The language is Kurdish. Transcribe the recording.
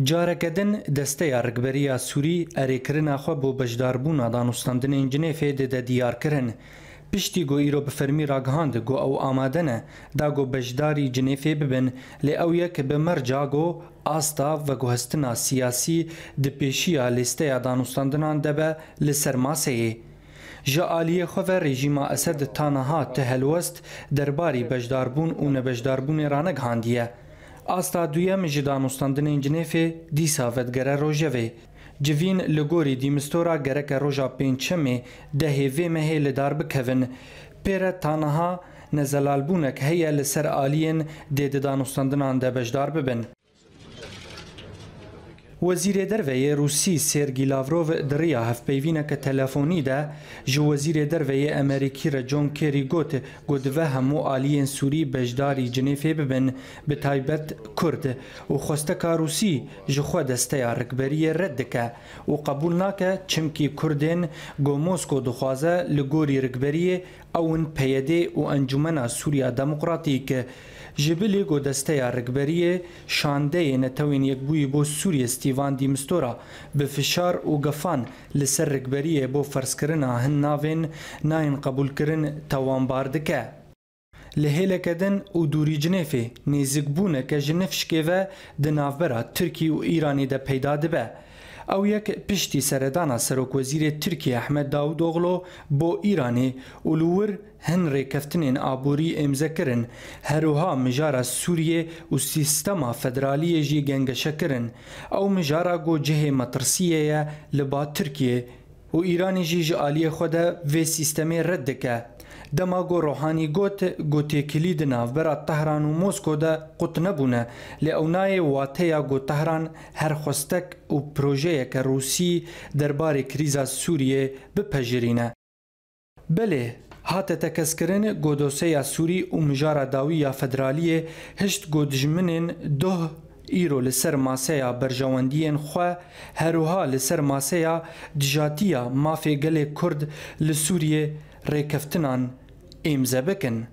Careke din Desteya Rikberiya Sûrî erêkirina xwe bo beşdarbûna danûstandinên Cinêfê dide diyarkirin. Piştî ku îro bi fermî ragihand ku ew amade ne da ku beşdarî Cinêfê bibin, lê ew yek bi merca ku asta veguhestina siyasî di pêşiya lîsteya danûstandinan de be li ser maseyê. Ji aliyê xwe ve rejîma Esed ta niha ti helwest derbarî beşdarbûn û nebeşdarbûnê ranegihandiye. Asta duyem ji danûstandinên Cinêfê dîsa vedigere rojevê. Civîn li gorî de Mistura gereke roja pêncşemê dehê vê mehê li dar bikevin. Pêre ta niha nezelalbûnek heye li ser aliyên dê di danûstandinan de beşdar bibin. Wezîrê Derve yê Rûsî Sergî Lavrov di riya hevpeyvîneke telefonî de ji Wezîrê Derve yê Amerîkî re John Kerry got ku dive hemû aliyên Sûrî beşdarî Cinêfê bibin, bi taybet Kurd û xwesteka Rûsî ji xwe desteya rikberiyê red dike û qebûl nake çimkî Kurdên ku Mosko dixwaze li gorî rikberiyê ew in PYD û Encûmena Sûriya Demokratîk. Ji bilî ku desteya rikberiyê şandeyê Netewên Yekbûyî bo Sûriyê Staffan de Mistura bi fişar û gefan li ser rikberiyê bo ferzkirina hin navên nayên qebûlkirin tawanbar dike. Li hêleke din û dûrî Cinêfê nêzîkbûneke ji nifşkê ve di navbera Tirkiye û Îranê de peyda dibe. Ew yek piştî seredana Serokwezîrê Tirkiye Ehmed Davutoglu bo Îranê û li wir hin rêkeftinên aborî îmze kirin. Her wiha mijara Sûriyê û sîstema federaliyê jî gengeşe kirin. Ew mijara ku cihê metirsiyê ye li ba Tirkiyê û Îranê jî ji aliyê xwe de vê sîstemê red dike. Dema ku Rohanî got ku têkilî di navbera Tehran û Mosko de qut nebûne, lê ew nayê wateya ku Tehran her xwestek û projeyeke Rûsî derbarê krîza Sûriyê bipejirîne. Belê hate tekezkirin ku doseya Sûrî û mijara dawî ya federaliyê hişt ku dijminên doh îro li ser maseya berjewendiyên xwe her wiha li ser maseya dijatiya mafê gelê Kurd li Sûriyê rêkeftinan îmze bikin.